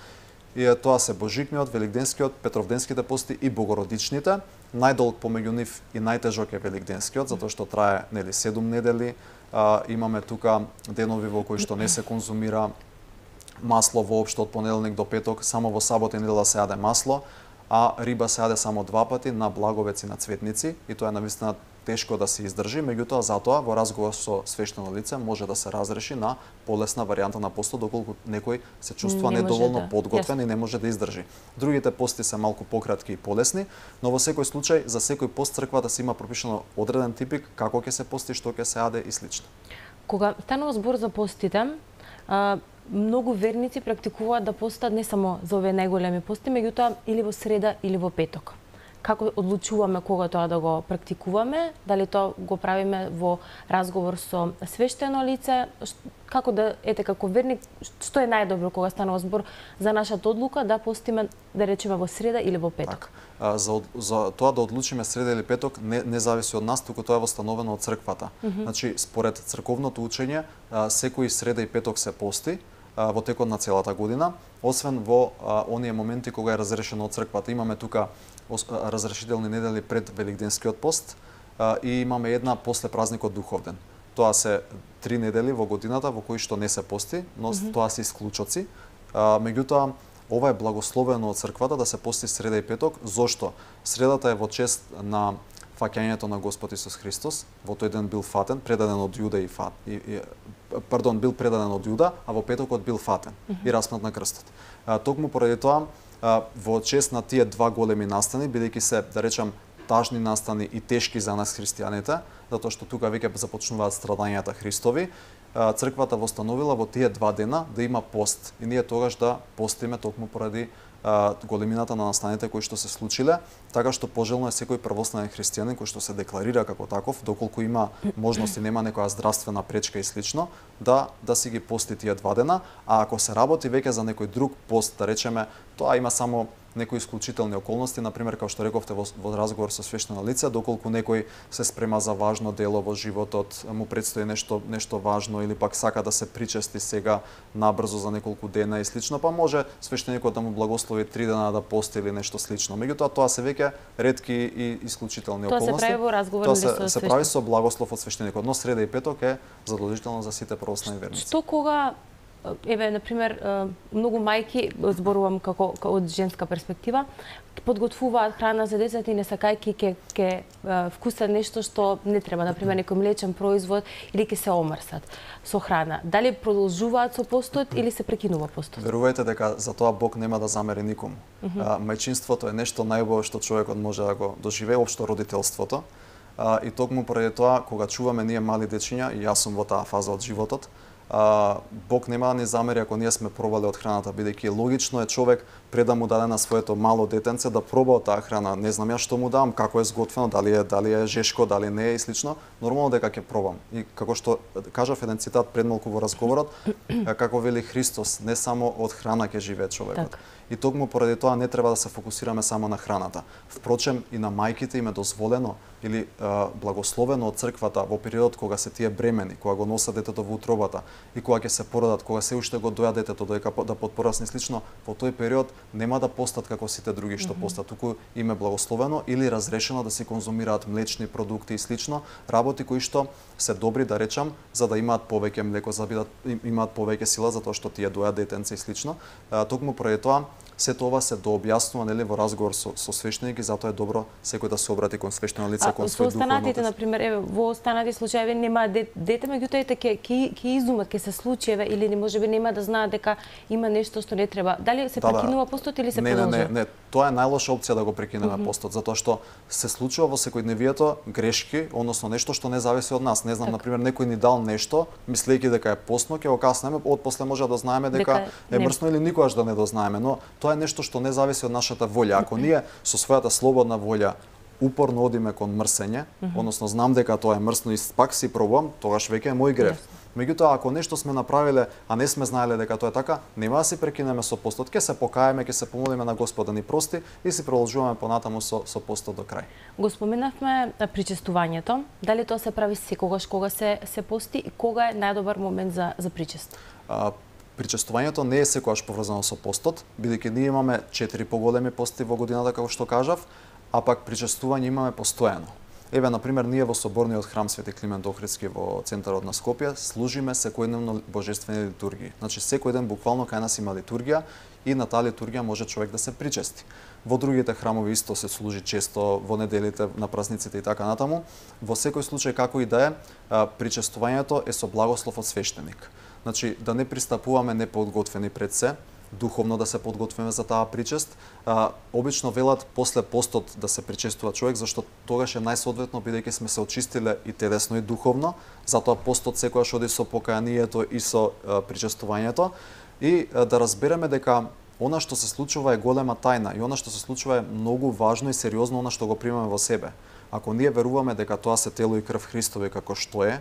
Speaker 2: И тоа се Божикниот, Великденскиот, Петровденските пости и Богородичните. Најдолг помеѓу нив и најтежок е Великденскиот, затоа што трае 7 недели. Имаме тука денови во кои што не се конзумира масло воопшто од понеделник до петок, само во сабота и недела се јаде масло, а риба се јаде само 2 пати на Благовец и на Цветници, и тоа е навистина тешко да се издржи, меѓутоа затоа во разговор со свештено лице може да се разреши на полесна варијанта на постот доколку некој се чувствува недоволно подготвен и не може да издржи. Другите пости се малку пократки и полесни, но во секој случај за секој пост црквата се има пропишано одреден типик како ќе се пости, што ќе се јаде и слично.
Speaker 1: Кога станува збор за постите, многу верници практикуваат да постат не само за овие најголеми пости, меѓутоа или во среда или во петок. Како одлучуваме кога тоа да го практикуваме, дали тоа го правиме во разговор со свештено лице, како да, како верник, што е најдобро кога станува збор за нашата одлука да постиме, да речеме, во среда или во петок?
Speaker 2: За тоа да одлучиме среда или петок не зависи од нас, туку тоа е восстановено од црквата. Значи, според црковното учење, секој среда и петок се пости во текот на целата година, освен во оние моменти кога е разрешено од црквата. Имаме тука разрешителни недели пред Великденскиот пост и имаме една после празникот Духовден. Тоа се 3 недели во годината во кои што не се пости, но тоа се исклучоци. Меѓутоа, ова е благословено од црквата да се пости среда и петок. Зошто? Средата е во чест на фаќањето на Господ Исус Христос. Во тој ден бил фатен, предаден од Јуда бил предаден од Јуда, а во петокот бил фатен и распнат на крстот. Токму поради тоа, во чест на тие два големи настани, бидејќи се, да речам, тажни настани и тешки за нас христијаните, затоа што тука веќе започнуваат страдањата Христови, црквата восстановила во тие 2 дена да има пост. И ние тогаш да постиме токму поради големината на настаните кои што се случиле, така што пожелно е секој првостанен христијанин кој што се декларира како таков, доколку има можност и нема некоја здравствена пречка и слично, да си ги пости тие 2 дена, а ако се работи веќе за некој друг пост, да речеме, тоа има само некои исклучителни околности, например, како што рековте во разговор со свештено лице, доколку некој се спрема за важно дело во животот, му предстои нешто важно или пак сака да се причести сега набрзо за неколку дена и слично, па може свештеникот да му благослови 3 дена да пости или нешто слично. Меѓутоа тоа се веќе ретки и исклучителни околности.
Speaker 1: Тоа се прави во разговор со свештеникот.
Speaker 2: Тоа се прави со благослов од свештеникот, но среда и петок е задолжително за сите православни верници.
Speaker 1: Што кога например, многу мајки, зборувам како од женска перспектива, подготвуваат храна за децата и не сакајќи ќе вкусат нешто што не треба, например, некој млечен производ или ќе се омрсат со храна. Дали продолжуваат со постот или се прекинува постот?
Speaker 2: Верувајте дека за тоа Бог нема да замери никому. Мајчинството е нешто најубаво што човекот може да го доживее, општо родителството. И токму поради тоа, кога чуваме ние мали дечиња, и јас сум во таа фаза од животот, Бог нема да ни замери ако ние сме пробале од храната, бидејќи логично е човек пред да му даде на своето мало детенце да проба од таа храна. Не знам ја што му дам, како е сготвено, дали е жешко, дали не е и слично. Нормално дека ќе пробам. И како што кажав еден цитат пред малку во разговорот, како вели Христос, не само од храна ќе живее човекот. и токму поради тоа не треба да се фокусираме само на храната. Впрочем, и на мајките им е дозволено или благословено од црквата во периодот кога се тие бремени, кога го носат детето во утробата и кога ќе се породат, кога се уште го доја детето додека да подпорасне слично, во тој период нема да постат како сите други што постат, туку им е благословено или разрешено да се конзумираат млечни продукти и слично, работи кои што се добри, да речам, за да имаат повеќе млеко, за да имаат повеќе сила затоа што тие дојат детенце и слично. Токму поради тоа сето ова се дообјаснува, нели, во разговор со свештеник и затоа е добро секој да се обрати кон свештено лице, кон свој духовен
Speaker 1: останатите,
Speaker 2: отец.
Speaker 1: например, еве, во останати случаи нема дете, меѓутоа ќе изумат, ќе се случи, еве, или можеби нема да знаат дека има нешто што не треба. Дали се прекинува постот или се продолжува?
Speaker 2: Не, тоа е најлоша опција да го прекинеме постот, затоа што се случува во секојдневието грешки, односно нешто што не зависи од нас. Не знам, например, некој ни дал нешто, мислејќи дека е постно, ќе го каснеме, отпосле може да знаеме дека е мрсно или никогаш да не дознаеме, но тоа е нешто што не зависи од нашата волја. Ако ние со својата слободна волја упорно одиме кон мрсење, односно знам дека тоа е мрсно и пак си пробувам, тогаш веќе е мој грев. Меѓутоа, ако нешто сме направиле, а не сме знаеле дека тоа е така, нема да си прекинеме со постот, ќе се покаеме, ќе се помолиме на Господ да ни прости и си продолжуваме понатаму со постот до крај.
Speaker 1: Го споменавме причестувањето. Дали тоа се прави секогаш кога се пости и кога е најдобар момент за причест?
Speaker 2: Причестувањето не е секогаш поврзано со постот, бидејќи ние имаме 4 поголеми пости во годината, како што кажав, а пак причестување имаме постојано. Еве, например, ние во Соборниот храм Свети Климент Охридски во центарот на Скопје служиме секојдневно божествени литургии. Значи, секој ден буквално кај нас има литургија и на таа литургија може човек да се причести. Во другите храмови исто се служи често во неделите, на празниците и така натаму. Во секој случај, како и да е, причестувањето е со благослов од свештеник. Значи, да не пристапуваме неподготвени пред се, духовно да се подготвиме за таа причест. Обично велат после постот да се причестува човек, зашто тогаш е најсоодветно, бидејќи сме се очистиле и телесно и духовно, затоа постот секогаш оди со покаянието и со причестувањето, и да разбереме дека она што се случува е голема тајна и она што се случува е многу важно и сериозно она што го примаме во себе. Ако ние веруваме дека тоа се тело и крв Христови како што е,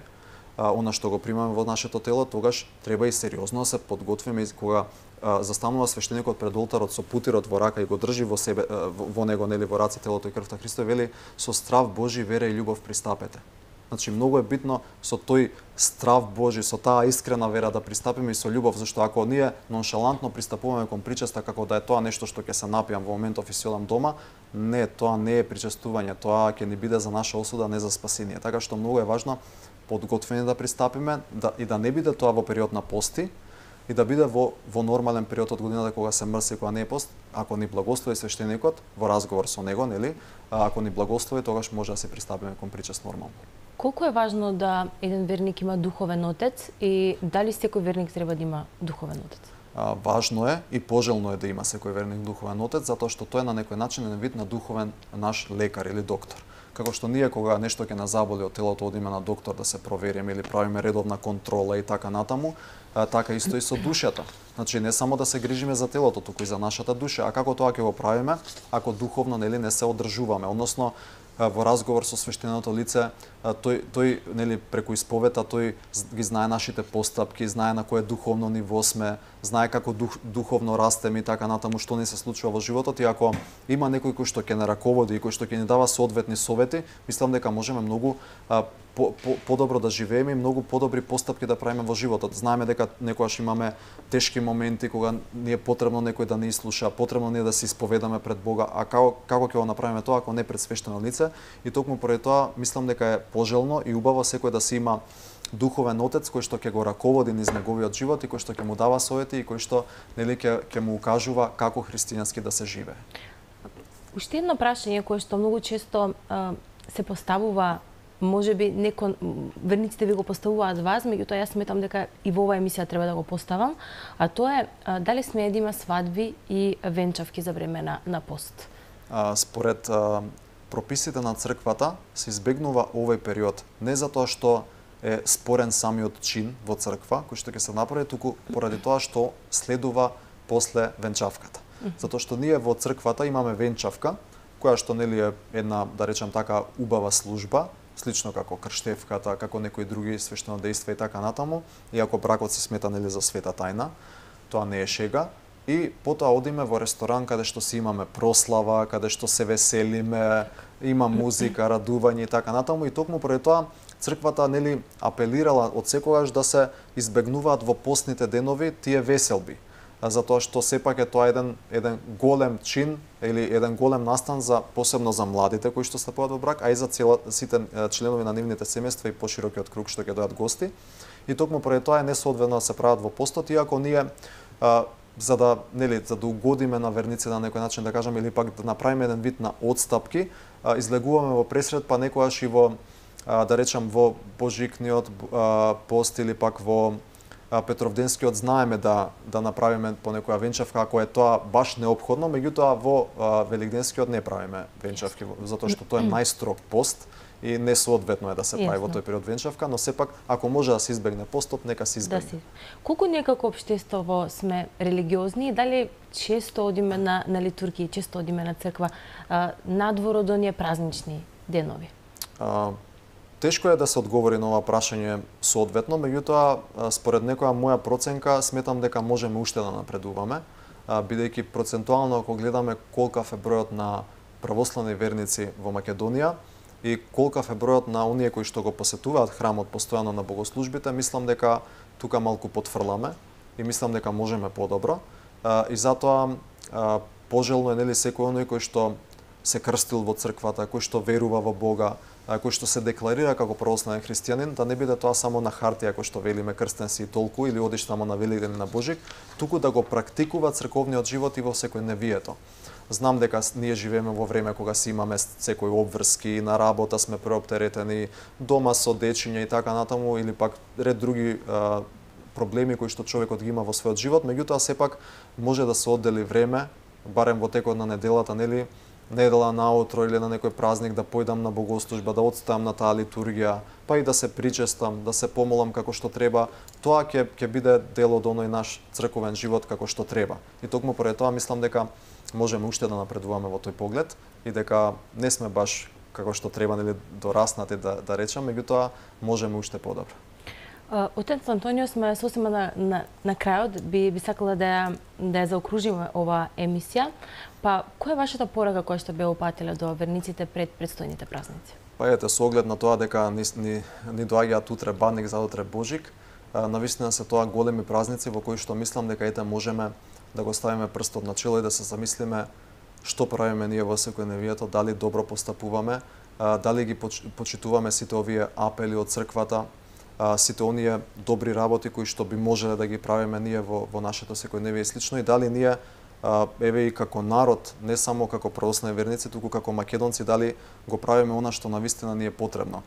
Speaker 2: она што го примаме во нашето тело, тогаш треба и сериозно да се подготвиме, и кога застанува свештеникот пред олтарот со путирот во рака и го држи во себе, во него, нели, во раце телото и крвта Христови, вели со страв Божи, вера и љубов пристапете. Значи, многу е битно со тој страв Божи, со таа искрена вера да пристапиме и со љубов, зашто ако ние ноншалантно пристапуваме кон причеста како да е тоа нешто што ќе се напијам во моментов и си одам дома, не, тоа не е причестување, тоа ќе ни биде за наша осуда, не за спасение. Така што многу е важно подготвени да пристапиме, и да не биде тоа во период на пости, и да биде во нормален период од годината кога се мрси, кога не е пост. Ако ни благослови свештеникот во разговор со него, нели, ако ни благослови, тогаш може да се пристапиме кон причест нормално.
Speaker 1: Колку е важно да еден верник има духовен отец и дали секој верник треба да има духовен отец?
Speaker 2: Важно е и пожелно е да има секој верник духовен отец, затоа што тој е на некој начин еден вид на духовен наш лекар или доктор. Како што ние кога нешто ќе назаболи од телото, одиме на доктор да се провериме или правиме редовна контрола и така натаму, така исто и со душата. Значи не само да се грижиме за телото, туку и за нашата душа. А како тоа ќе го правиме ако духовно, нели, не се одржуваме? Односно во разговор со свештеното лице, тој нели преку исповета тој ги знае нашите постапки, знае на кое духовно ниво сме, знае како духовно растеме и така натаму, што ни се случува во животот, и ако има некој кој што ќе не раководи и кој што ќе ни дава соодветни совети, мислам дека можеме многу подобро да живееме и многу подобри постапки да правиме во животот. Знаеме дека некогаш имаме тешки моменти кога ни е потребно некој да ни слуша, потребно ние да се исповедаме пред Бога, а како ќе го направиме тоа ако не пред свештено лице? И токму поради тоа мислам дека е пожелно и убаво секој да се има духовен отец кој што ќе го раководи низ неговиот живот и кој што ќе му дава совети и кој што, нели, ќе му укажува како христијански да се живее.
Speaker 1: Уште едно прашање кое што многу често се поставува, можеби верниците ви го поставуваат вас, меѓутоа јас сметам дека и во оваа емисија треба да го поставам, а тоа е дали смее да има свадби и венчавки за време на пост?
Speaker 2: Според прописите на црквата се избегнува овој период не затоа што е спорен самиот чин во црква кој што ќе се направи, туку поради тоа што следува после венчавката. Затоа што ние во црквата имаме венчавка која што, нели, е една, да речам така, убава служба, слично како крштевката, како некои други свештенодејства и така натаму, иако бракот се смета, нели, за света тајна, тоа не е шега. и потоа одиме во ресторан каде што си имаме прослава, каде што се веселиме, има музика, радување и така натаму, и токму поради тоа црквата нели апелирала од секогаш да се избегнуваат во постните денови тие веселби, затоа што сепак е тоа еден голем чин или еден голем настан за посебно за младите кои што стапуваат во брак, а и за сите членови на нивните семејства и поширокиот круг што ќе дојдат гости. И токму поради тоа е несоодветно да се прават во постот, иако ние за да угодиме на верниците на некој начин, да кажеме, или пак да направиме еден вид на одстапки, излегуваме во пресред, па некогаш и во да речам во божикниот пост или пак во Петровденскиот знаеме да направиме по некоја венчавка ако е тоа баш неопходно, меѓутоа во Великденскиот не правиме венчавки затоа што тоа е најстрог пост и несоодветно е да се прави во тој период венчавка, но сепак ако може да се избегне постот, нека се избегне.
Speaker 1: Колку ние како општество сме религиозни и дали често одиме на литургии, често одиме на црква надвор од оние празнични денови?
Speaker 2: Тешко е да се одговори на ова прашање соодветно, меѓутоа според некоја моја проценка сметам дека можеме уште да напредуваме, бидејќи процентуално ако гледаме колкав е бројот на православни верници во Македонија и колкав е бројот на оние кои што го посетуваат храмот постојано на богослужбите, мислам дека тука малку потфрламе и мислам дека можеме подобро. И затоа пожелно е нели секој оној кој што се крстил во црквата, кој што верува во Бога, кој што се декларира како православен христијанин, да не биде тоа само на хартија кој што велиме крстен си и толку или одиш само на Великден на Божик, туку да го практикува црковниот живот и во секојдневието. Знам дека ние живееме во време кога си имаме секој обврски, на работа сме преоптеретени, дома со дечиња и така натаму, или пак ред други проблеми кои што човекот ги има во својот живот, меѓутоа сепак може да се оддели време, барем во текот на неделата, нели, недела наутро или на некој празник да појдам на богослужба, да одставам на таа литургија, па и да се причестам, да се помолам како што треба, тоа ќе биде дел од оној наш црковен живот како што треба. И токму поради тоа мислам дека можеме уште да напредуваме во тој поглед и дека не сме баш како што треба, нели, дораснати да речам, меѓутоа можеме уште подобро.
Speaker 1: Отец Антонио, сме сосема на крајот, би сакала да ја заокружиме ова емисија. Па, која е вашата порака која што бе упатила до верниците пред предстојните празници?
Speaker 2: Па ете, со оглед на тоа дека ни доаѓаат утре Бадник, заутре Божик, навистина се тоа големи празници во кои што мислам дека ете можеме да го ставиме прстот на чело и да се замислиме што правиме ние во секојдневието, дали добро постапуваме, дали ги почитуваме сите овие апели од црквата, сите оние добри работи кои што би можеле да ги правиме ние во нашето секојдневие и слично, и дали ние еве и како народ, не само како православни верници, туку како македонци, дали го правиме она што навистина ни е потребно.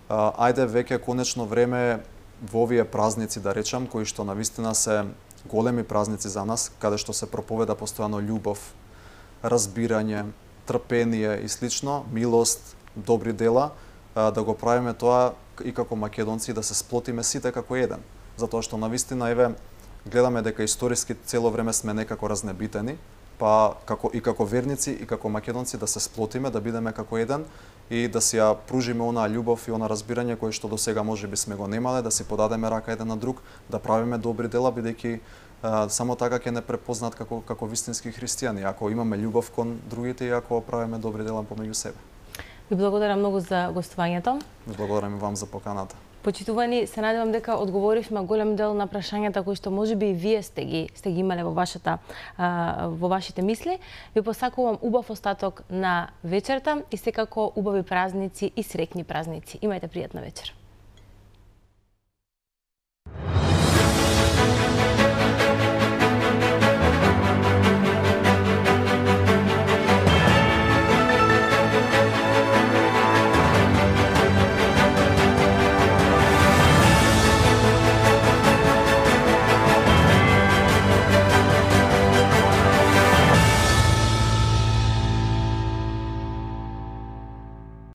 Speaker 2: Ајде веќе конечно време во овие празници, да речам, кои што навистина се големи празници за нас, каде што се проповеда постојано љубов, разбирање, трпение и слично, милост, добри дела, да го правиме тоа и како македонци, да се сплотиме сите како еден. Затоа што навистина еве гледаме дека историски цело време сме некако разнебитени, па како верници и како македонци да се сплотиме, да бидеме како еден и да си ја пружиме онаа љубов и она разбирање кое што досега можеби сме го немале, да си подадеме рака еден на друг, да правиме добри дела, бидејќи само така ќе не препознаат како вистински христијани, ако имаме љубов кон другите и ако правиме добри дела помеѓу себе.
Speaker 1: Ви благодарам многу за гостувањето.
Speaker 2: Благодарам и вам за поканата.
Speaker 1: Почитувани, се надевам дека одговоривме голем дел на прашањата кои што можеби и вие сте ги имале во вашите мисли. Ви посакувам убав остаток на вечерта и секако убави празници и среќни празници. Имајте пријатна вечер.